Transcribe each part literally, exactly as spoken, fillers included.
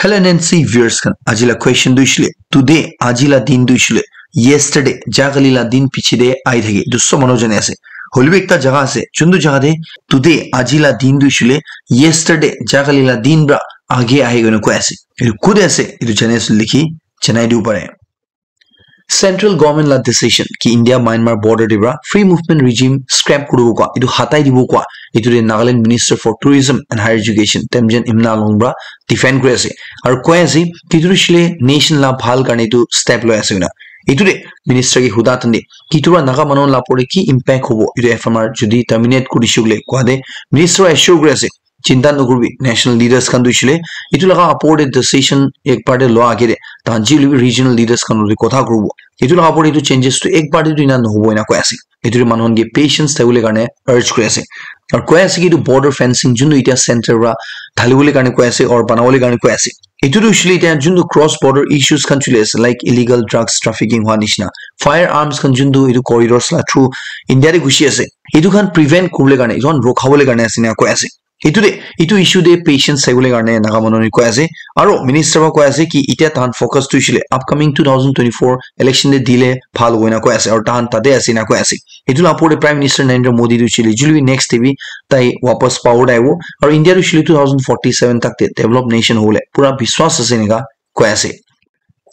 Hello N N C viewers khan, aji la question tu ishile, today, aji la din tu ishile, yesterday, jagali la din piche de ai thake, etu sob manu jane ase. Hoilebi ekta jaga ase, juntu jaga de today, aji la din tu ishile, yesterday, jagali la din pra age ahi koina koi ase. Etu kute ase, etu jane ase likhi janai dibo pare. Central government la decision ki India Myanmar border de pra free movement regime scrap kuribo kwa, etu hatai dibo kwa, etu de Nagaland Minister for Tourism and Higher Education Temjen Imna Longpra defend kuri ase. Aru koi ase ki etu shile nation la bhal karne etu step loi ase koina. Etu de minister ki huda tande ki etu pra Naga manu la pore ki impact hobo, etu F M R jodi terminate kuri shukle kwa de minister assure kuri ase. Chinta nokuribi, national leaders khan tu hoishile, etu laga upor te decision ekbar te loa age te, tahan ji hoilebi regional leaders khan loi kotha kuribo. Etu laga upor te etu changes tu ekbar te tu ena nohobo ena koi ase. Etu te manu khan ke patience thabole karne urge kuri ase. Aru koi ase ki etu border fencing juntu etia center pra dhalibole karne koi ase or banabole karne koi ase. Etu tu hoishile etia juntu cross border issues khan chuli ase, like illegal drugs trafficking hua nishina, firearms khan juntu etu corridors la through India te gushi ase. Etu khan prevent kuribole karne, etu khan rokhabole karne ase ena koi ase. Etu de, etu issue de patience saibole karne Naga manu koi ase. Aro minister para koi ase ki etia tahan focus tu hoishile upcoming two thousand twenty-four election de dile bhal hobo ena koi ase. Aro tahan tate ase ena koi ase. Etu la opor de Prime Minister Narendra Modi tu hoishile, juilebi next de bi tai wapas power de ahibo. Aro India tu hoishile two thousand forty-seven tak de developed nation hobole pura biswas ase eneka koi ase.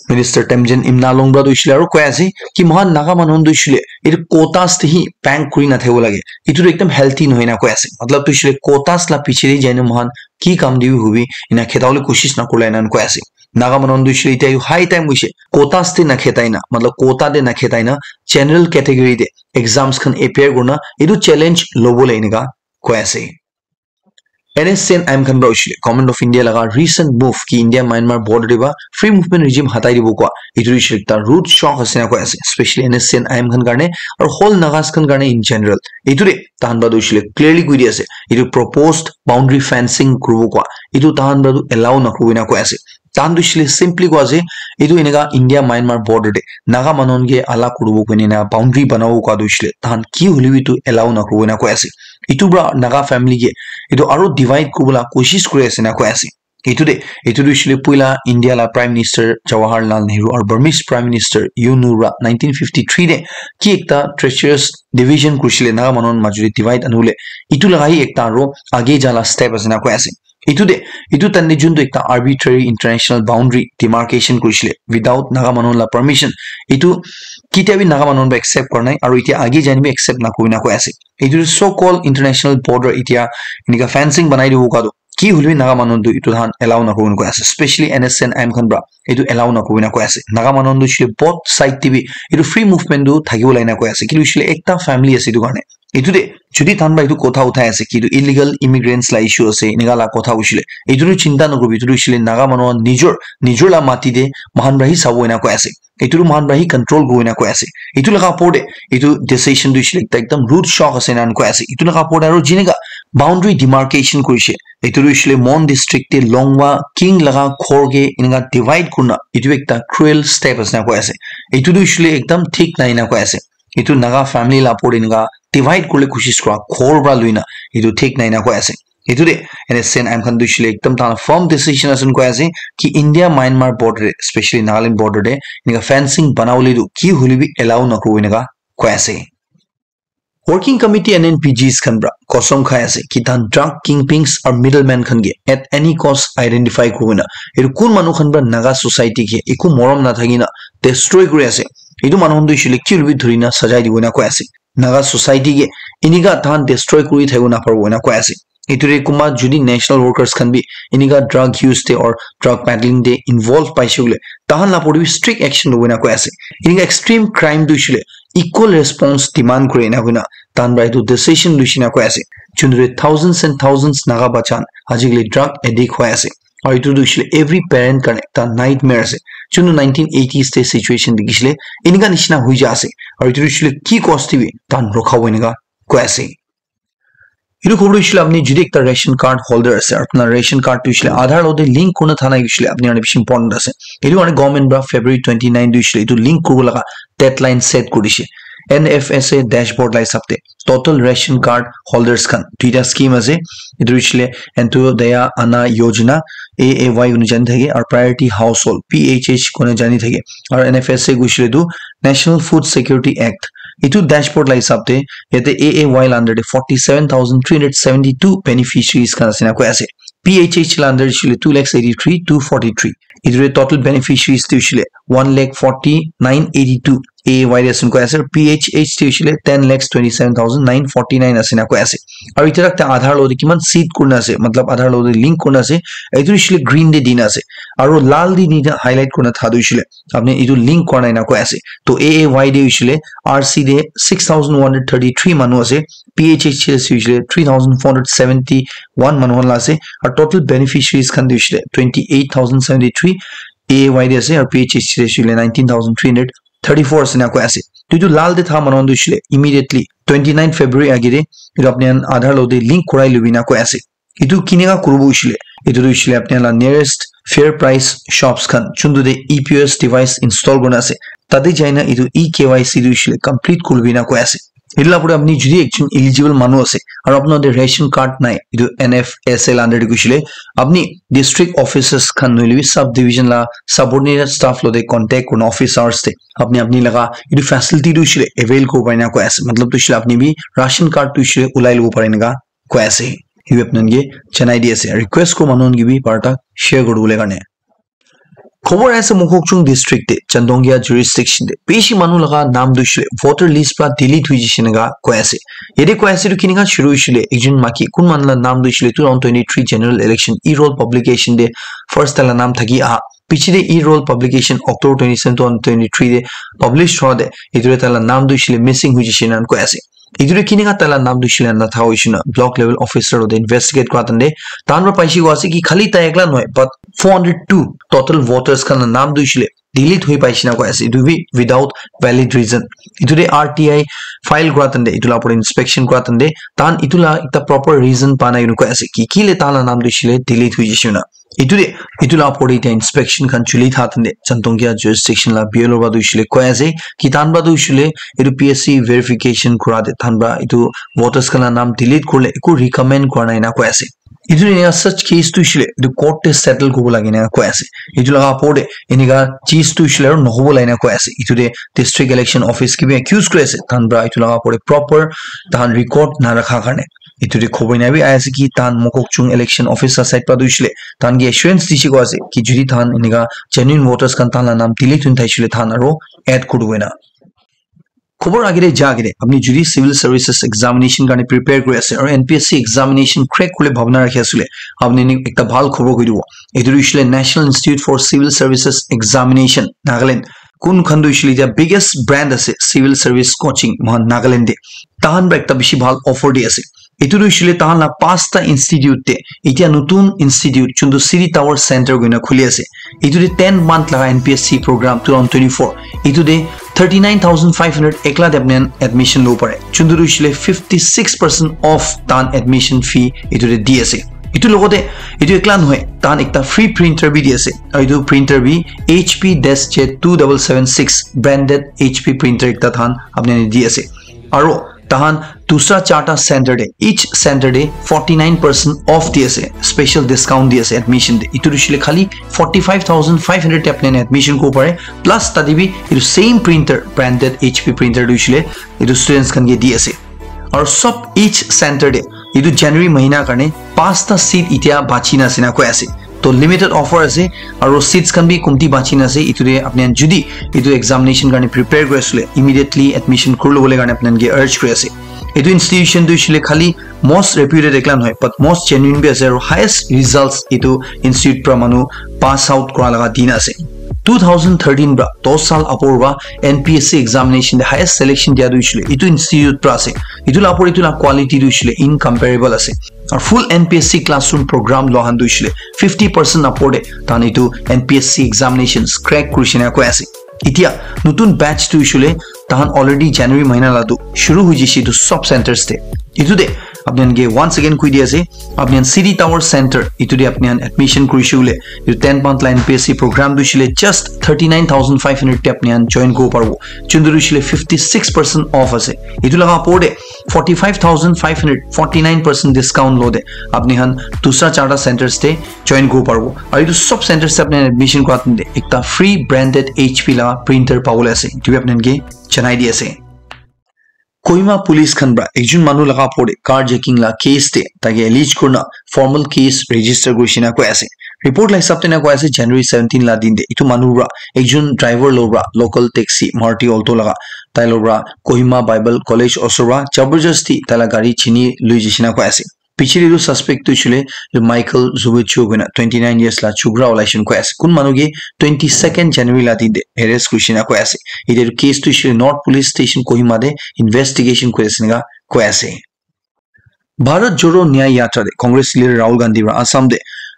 Minister Temjen Imna Longpra tu hoishile aro koi ase ki mohan Naga manu khan tu hoishile etu quotas te hi bank kuri na thebo lage. Etu tu ekdam healthy nohoi na koi ase. Matlab tu hoishile quotas la piche de jai na mohan ki kam de bi hobi ena kheta bole koshish na kurle ena koi ase. Naga manu khan tu hoishile etia high time hoise quotas te na kheta na, matlab quota te na kheta na, general category de exams khan appear kurna etu challenge lobole eneka koi ase. N S C N I M khan para hoishile Government of India laga recent move ki India Myanmar border de ba free movement regime hatai dibo koa, etu hoishile ekta rude shock ase na koi ase, especially N S C N I M khan karne aru whole Nagas khan karne in general. Etu de tahan para tu hoishile clearly koi di ase, etu proposed boundary fencing kuribo koa, etu tahan para tu allow na kuribo na koi ase. Tahan tu hoishile simply koi ase, etu eneka India Myanmar border de Naga manu khan ke alag kuribo koine na boundary banabo koa tu hoishile tahan ki hoilebi etu allow na kuribo na koi ase. Etu para Naga family ke etu aro divide kuribo la koshish kuri ase na koi ase. Etu de, etu tu hoishile puila India la Prime Minister Jawaharlal Nehru aru Burmese Prime Minister U Nu para nineteen fifty-three de ki ekta treacherous division kurishile Naga manu khan majo de divide anibole, etu laga hi ekta aro age ja la step ase na koi ase. Etu de, etu time de juntu ekta arbitrary international boundary demarcation kurishile without Naga manu la permission, etu ketia bi Naga manu para accept kora nai aru etia age jai na bi accept na kuribo na koi ase. Etu so called international border etia eneka fencing banai dibo koa tu ki hoilebi Naga manu tu etu tahan allow na kuribo na koi ase, especially N S C N I M khan para etu allow na kuribo na koi ase. Naga manu tu hoishile both side de bi etu free movement tu thakibo lage na koi ase, kintu hoishile ekta family ase etu karne. Etu de jodi tahan para etu kotha uthai ase ki etu illegal immigrants la issue ase eneka la kotha hoishile, etu tu chinta nakuribi, etu tu hoishile Naga manu khan nijor, nijor la mati de mohan para hi sabo ena koi ase. Etu tu mohan para hi control kuribo ena koi ase. Etu laga opor de etu decision tu hoishile ekta ekdam rude shock ase ena koi ase. Etu laga opor de aru jineka boundary demarcation kurishe, etu tu hoishile Mon district de Longwa King laga ghor ke eneka divide kurina, etu ekta cruel step ase na koi ase. Etu tu hoishile ekdam thik nai na koi ase. Etu Naga family la opor de eneka divide kuribole koshish kura ghor para loina, etu thik nai na koi ase. Etu de N S C N I M khan tu hoishile ekdam tahan firm decision ase koi ase ki India Myanmar border de, especially Nagaland border de eneka fencing banabole tu ki hoilebi allow na kuribo eneka koi ase. Working Committee N N P Gs khan para kosam khai ase ki tahan drug kingpins aru middleman khan ke at any cost identify kuribo na, etu kun manu khan para Naga society ke eku morom na thaki na destroy kuri ase, etu manu khan tu hoishile ki hoilebi dhuri na sajai dibo na koi ase. Naga society ke eneka tahan destroy kuri thakibo na paribo ena koi ase. Etu de kunba jodi national workers khan bi eneka drug use te or drug peddling te involve paishe koile, tahan la opor de bi strict action lobo ena koi ase. Eneka extreme crime tu hoishile equal response demand kure ena koina tahan para etu decision loishe na koi ase. Juntu de thousands and thousands Naga bacha khan ajikali drug addict hoi ase. Aru etu tu hoishile every parent karne ekta nightmare ase. Juntu nineteen eighties te situation dikhishile, eneka nishina hoi ja ase. Aru etu tu hoishile ki cost te bi tahan rokhabo eneka koi ase. Etu khobor tu hoishile apni jodi ekta ration card holder ase, apna ration card tu hoishile Aadhaar logote link kurina thana hoishile apni karne bishi important ase. Etu karne government para February twenty-nine tu hoishile etu link kuribo laga deadline set kuri dishe N F S A dashboard la hisab te. total ration card holders khan duita scheme ase. Etu hoishile Antyodaya Anna Yojana, A A Y kuni jani thake, aru Priority Household, P H H kuni jani thake, aru N F S A hoishile tu National Food Security Act. Etu dashboard la hisab te yate A A Y la under te forty seven thousand three hundred seventy two beneficiaries khan ase na koi ase. P H H la under te hoishile two lakhs eighty three two forty three. Etu te total beneficiaries te hoishile one lakh forty nine eighty two A A Y te ase na koi ase. P H H te hoishile ten lakhs twenty seven thousand nine forty nine ase na koi ase. Aru etia tak Aadhaar lo te kiman seed kurina ase, matlab Aadhaar lo te link kurina ase, etu hoishile green te dina ase. Aru lal te dina highlight kurina tha tu hoishile apni etu link kora nai na koi ase. To A A Y te hoishile R C te six thousand one hundred thirty three manu ase, P H H te hoishile three thousand four hundred seventy one manu khan la ase, aru total beneficiaries khan te hoishile twenty eight thousand seventy three A A Y te ase, aru P H H te hoishile nineteen thousand three hundred thirty four ase na koi ase. To etu lal te tha manu khan tu hoishile immediately twenty nine February age te etu apni khan Aadhaar lo te link korai lobi na koi ase. Etu kinika kuribo hoishile, etu tu hoishile apni khan la nearest fair price shops khan chuntu te E P O S device install kurina ase, tate jaina etu E K Y C tu hoishile complete kuribi na koi ase. Etu la pore apni jodi ekjon eligible manu ase aru apna te ration card nai, etu N F S A la under te hoishile apni district offices khan nohoile bi sub division la subordinate staff lo te contact kurina office hours te apni apni laga etu facility tu hoishile avail kuribo pare na koi ase. Matlab tu hoishile apni bi ration card tu hoishile ulai lobo pare eneka koi ase. Etu apni khan ke janai di ase. Request ko manu khan ke bi barta share kuri bole karne. Khobor ase Mokokchung district te, Chandongya jurisdiction te bishi manu laga naam tu hoishile voter list pra delete hoi jishe eneka koi ase. Yate koi ase tu kinika shuru hoishile, ekjon maki kun manu la naam tu hoishile two thousand twenty-three general election e-roll publication te first taila naam thaki aha. Piche te e-roll publication October twenty-seven, two thousand twenty-three te publish hua te etu te taila naam tu hoishile missing hoi jishe eneka koi ase. Etu te kinika taila naam tu hoishile na tha hoishina block level officer lo te investigate kora tante tahan pra paishe koi ase ki khali tai ekla nohoi, but four hundred two total voters khan la naam tu hoishile delete hoi paishe na koi ase. Etu bi without valid reason. Etu te R T I file kora tante, etu la upor inspection kora tante tahan etu la ekta proper reason pa nai koi ase ki kile tahan la naam tu hoishile delete hoi jishe na. Etu te, etu la upor te etia inspection khan chuli tha tante Chandongya jurisdiction la B L O pra tu hoishile koi ase ki tahan pra tu hoishile etu P S C verification kora te tahan pra etu voters khan la naam delete kurle eku recommend kora nai na koi ase. Etu eneka such case tu hoishile etu court te settle kuribo lage na koi ase. Etu laga upor te eneka case tu hoishile aru nohobo lage na koi ase. Etu te district election office ke bi accuse kuri ase tahan pra etu laga upor te proper tahan record na rakha karne. Etu te khobor ena bi ahi ase ki tahan Mokokchung election office la side pra tu hoishile tahan ke assurance dishe koi ase ki jodi tahan eneka genuine voters khan tahan la naam delete hoi thakishile tahan aru add kuri dibo ena. Khobor age te ja age te apni jodi civil services examination karne prepare kuri ase aru N P S C examination crack kuribole bhabna rakhi asile apni ni ekta bhal khobor koi dibo. Etu tu hoishile National Institute for Civil Services Examination Nagaland, kun khan tu hoishile etia biggest brand ase civil service coaching mohan Nagaland te, tahan pra ekta bishi bhal offer di ase. Etu tu hoishile tahan la pasta institute te etia notun institute chuntu City Tower Center koina khuli ase. Etu te ten month laga N P S C program two thousand twenty-four. Etu te thirty nine thousand five hundred ekla te apni khan admission lobo pare. Chuntu tu hoishile fifty six percent off tahan admission fee etu te di ase. Etu logote etu ekla nohoi, tahan ekta free printer bi di ase. Aru etu printer bi H P DeskJet two double seven six branded H P printer ekta tahan apni khan di ase. Aru tahan dusra charta center te, each center te forty nine percent off di ase, special discount di ase admission te. Etu tu hoishile khali forty five thousand five hundred te apni khan admission kuribo pare, plus tate bi etu same printer, branded H P printer tu hoishile etu students khan ke di ase. Aru sob each center te etu January mahina karne pasta seat etia bachi na ase na koi ase. To limited offer ase, aru seats khan bi kumti bachi na ase. Etu te apni khan jodi etu examination karne prepare kuri asile, immediately admission kuri lobole karne apni khan ke urge kuri ase. Etu institution tu hoishile khali most reputed ekla nohoi, but most genuine bi ase aru highest results etu institute pra manu pass out kura laga din ase. Two thousand thirteen pra dos saal upor pra N P S C examination te highest selection dia tu hoishile etu institute pra ase. Etu la upor etu la quality tu hoishile incomparable ase. Aru full N P S C classroom program loa khan tu hoishile fifty percent upor te tahan etu N P S C examinations crack kurishe na koi ase. Etia notun batch tu hoishile tahan already January mahina la tu shuru hoi jishe etu sob centers te. Etu te Apni khan ke once again koi di ase, apni khan City Tower Center itu te apni khan admission kurishe hoile, itu ten month la N P S C program tu hoishe le just thirty nine thousand five hundred te apni khan join kuribo paribo. Chundu hoishe le fifty six percent off ase. Itu laga opor te forty five thousand five hundred, forty nine percent discount lo te apni khan dusra charta centers te join kuribo paribo. Aru itu sob centers te apni khan admission kura tante ekta free branded H P la printer pabole ase. Itu bi apni khan ke janai di ase. Kohima police khan pra ekjon manu laga opor te carjacking la case te taike allege kurina formal case register kurishe na koi ase. Report la hisab te na koi ase January seventeen la din te itu manu pra ekjon driver lo pra local taxi Maruti Alto laga tai lo pra Kohima Bible College osor pra jabardasti tai la gari chini lui jaishe na koi ase. Piche te tu suspect tu hoishe le Michael Zubichu koina twenty nine years la chukra olaishe koi ase. Kun manu ke twenty second January la din te arrest kurishe na koi ase. Ite tu case tu hoishe le North Police Station Kohima te investigation kuri ase enika koi ase. Bharat Jodo Nyay Yatra te Congress leader Rahul Gandhi pra Assam te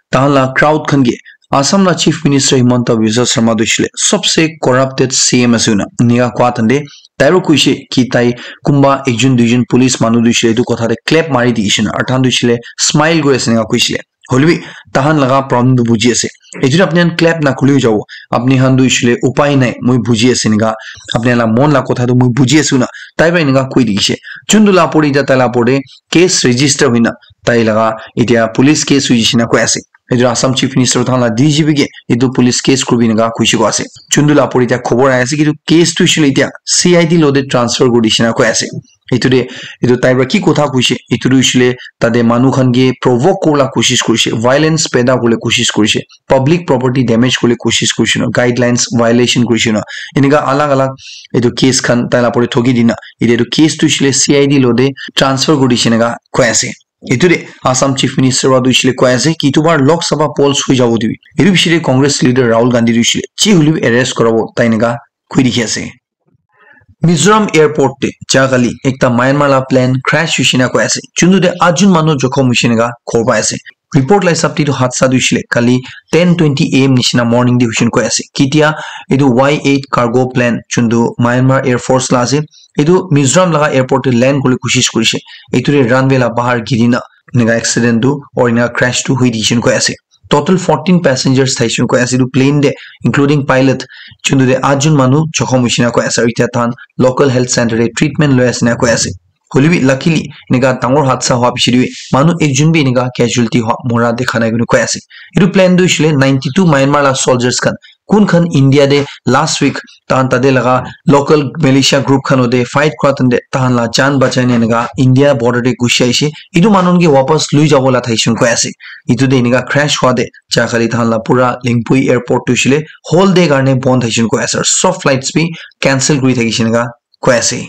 tahan la crowd khan ke Assam la Chief Minister Himanta Biswa Sarma tu hoishe le sobse corrupted C M ase koina enika koa tante tai pra koishe ki tai kunba ekjon duijon police manu tu hoishe le etu kotha te clap mari dikhishe na aru tahan tu hoishe le smile kuri ase enika koishe le. Hoilebi tahan laga problem tu buji ase. Etu tu apni khan clap na khuliu jabo. Apni khan tu hoishe le upai nai, moi buji ase enika. Apni khan la mon la kotha tu moi buji ase koina tai pra enika koi dikhishe. Chundu la opor te tai la opor te case register hoina tai laga etia police case hoi jaishe na koi ase. Etu Assam Chief Minister tahan la D G P ke etu police case kuribi enika koishe koi ase. Chundu la opor te etia khobor ahi ase ki etu case tu hoishe le etia C I D lo te transfer kuri dishe na koi ase. Etu te etu tai pra ki kotha koishe etu tu hoishe le tate manu khan ke provoke kuribole koshish kurishe, violence paida kuribole koshish kurishe, public property damage kuribole koshish kurishe na, guidelines violation kurishe na, enika alag alag etu case khan tai la opor te thoki dina etia etu case tu hoishe le C I D lo te transfer kuri dishe enika koi ase. Etu te Assam Chief Minister pra tu hoishe le koi ase ki etu bar Lok Sabha polls hoi jabo dibi. Etu piche te Congress leader Rahul Gandhi tu hoishe le ji hoilebi arrest kurabo tai enika koi dikhi ase. Mizoram airport te ja kali ekta Myanmar la plane crash hoishe na koi ase. Chundu te atjon manu jokhom hoishe enika khobor pai ase. Report la hisab te tu hadsa tu hoishe le kali ten twenty A M nishina morning te hoishe koi ase. Ketia etu Y eight cargo plane chundu Myanmar Air Force la ase. Etu Mizoram laga airport te land kuribole koshish kurishe. Etu te runway la bahar giri na enika accident tu or enika crash tu hoi dikhishe koi ase. Total fourteen passengers thaishe koi ase etu plane te, including pilot, chundu te atjon manu jokhom hoishe na koi ase. Aru etia tahan local health center te treatment loi ase na koi ase. Hoilebi luckily enika dangor hadsa hoa piche te bi manu ekjon bi enika casualty hoa mora dikha nai koina koi ase. Etu plane tu hoishe le ninety two Myanmar la soldiers khan kun khan India te last week tahan tate laga local militia group khan ote fight kura tante tahan la jaan bachai na enika India border te gusi aishe. Etu manu khan ke wapas lui jabo la thaishe koi ase. Etu te enika crash hua te ja kali tahan la pura Lingpui airport tu hoishe le whole day karne bon thaishe koi ase. Sob flights bi cancel kuri thaishe enika koi ase.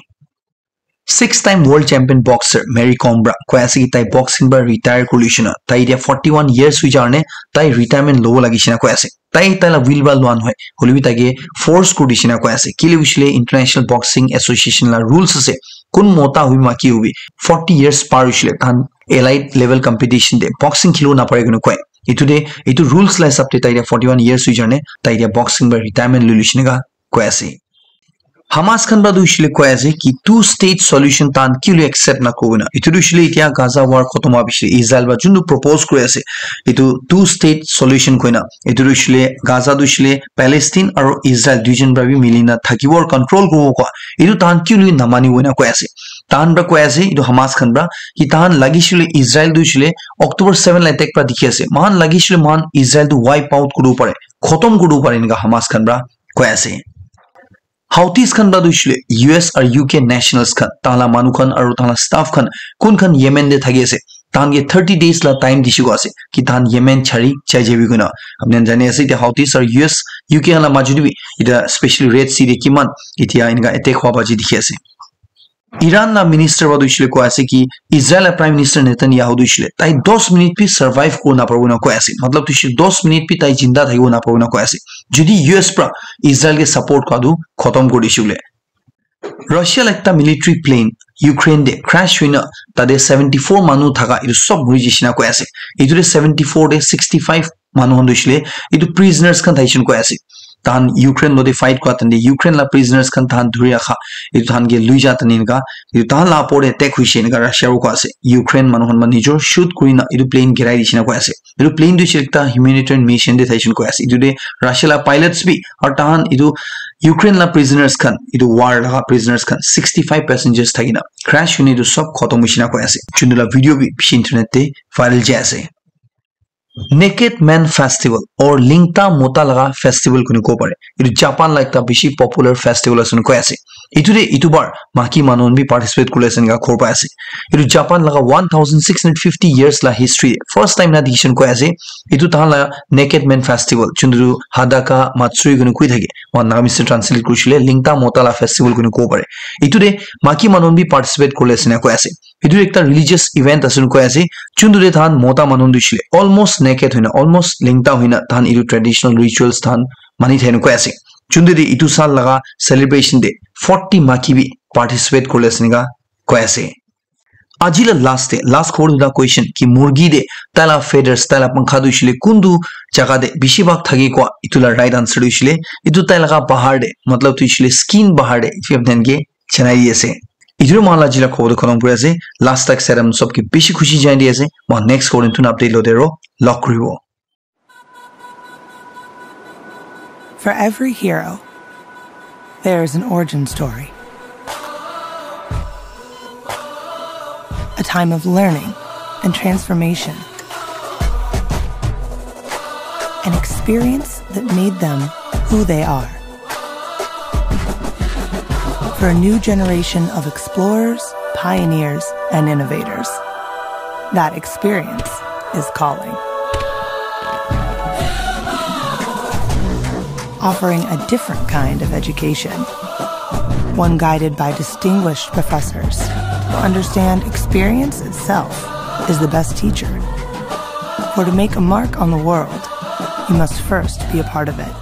Six time world champion boxer Mary Kom pra koi ase ki tai boxing pra retire kuri lishe na tai etia forty one years hoi ja karne tai retirement lobo lagi she na koi ase. Tai tai la will pra lua nohoi, hoilebi tai ke force kuri dishe na koi ase. Kile hoishe le International Boxing Association la rules ase, kun mota hobi maki hobi forty years par hoishe le tahan elite level competition te boxing khilibo napare koina koi. Etu te etu rules la hisab te tai etia forty one years hoi ja karne tai etia boxing pra retirement loi lishe enika koi ase. Hamas khan pra tu hoishe le koi ase ki two state solution tahan kile accept na kuri na. Etu tu hoishe le etia Gaza war khotom hoa piche Israel pra juntu propose kuri ase. Etu two state solution koina. Etu tu hoishe le Gaza tu hoishe le Palestine aru Israel duijon pra bi mili na thakibo aru control kuribo koa. Etu tahan kile namani koina koi ase. Tahan pra koi ase etu Hamas khan pra ki tahan lagishe le Israel tu hoishe le October seven la attack pra dikhi ase. Moikhan lagishe le moikhan Israel tu wipe out kuribo pare, khotom kuribo pare enika Hamas khan pra koi ase. Houthis khan pra tu hoishe le U S aru U K nationals khan, tahan la manu khan aru tahan la staff khan, kun khan Yemen te thaki ase, tahan ke thirty days la time dishe koi ase ki tahan Yemen chari jai jabi koina. Apni khan jani ase etia Houthis aru U S, U K khan la majot te bi etia specially Red Sea te kiman etia enika attack hua baji dikhi ase. Iran la minister pra tu hoishe le koi ase ki Israel la Prime Minister Netanyahu tu hoishe le tai dos minute bi survive kuribo naparibo na koi ase. Matlab tu hoishe le dos minute bi tai jinda thakibo naparibo na koi ase. Jodi U S pra Israel ke support kura tu khotom kuri dishe hoile. Russia la ekta military plane Ukraine te crash hoina tate seventy four manu thaka etu sob mori jaishe na koi ase. Etu te seventy four te sixty five manu khan tu hoishe le etu prisoners khan thaishe na koi ase. tahan Ukraine lode fight kua tande Ukraine la prisoners khan tahan dhuri rakha, etu tahan ke lui ja tani enika, etu tahan la opor te attack hoise enika Russia ro kua ase. Ukraine manu khan ma nijor shoot kurina etu plane girai dishina koi ase. Etu plane tu hoise ekta humanitarian mission te thaishe koi ase. Etu te Russia la pilots bi aru tahan etu Ukraine la prisoners khan, etu war laga prisoners khan sixty-five passengers thakina crash hoine etu sob khotom hoishina koi ase. Chundu la video bi bishi internet te viral jai ase. Naked Man Festival or Lingta Mota laga festival kuni kobo pare. Etu Japan la ekta bishi popular festival ase koi ase. Etu te etu bar maki manu khan bi participate kuri ase enika khobor pai ase. Etu Japan laga one thousand six hundred fifty years la history first time na dikishe koi ase. Etu tahan la Naked Man Festival, chundu Hadaka Matsuri kuni koi thake. Moi Nagamese te translate kurishile Lingta Mota la festival kuni kobo pare. Etu te maki manu khan bi participate kuri ase enika koi ase. Etu ekta religious event ase koi ase. Chundu te tahan mota manu khan tu hoishe le almost naked hoina, almost lingta hoina tahan etu traditional rituals tahan mani thai koi ase. Chundu te etu saal laga celebration te forty maki bi participate kuri ase enika koi ase. Aji la last te, last khobor duita question ki murgi te tai la feathers, tai la pankha tu hoishe le kuntu jaga te bishi bhag thaki kua, etu la right answer tu hoishe le etu tai laga bahar te, matlab tu hoishe le skin bahar te, if you have then ke janai di ase. Etu moi la aji la khobor tu khotom kuri ase. Last tak seram sob ke bishi khushi janai di ase. Moi next khobor tu update lote ro log kuribo. For every hero, there is an origin story. A time of learning and transformation. An experience that made them who they are. For a new generation of explorers, pioneers, and innovators, that experience is calling. Offering a different kind of education, one guided by distinguished professors who understand experience itself is the best teacher. For to make a mark on the world, you must first be a part of it.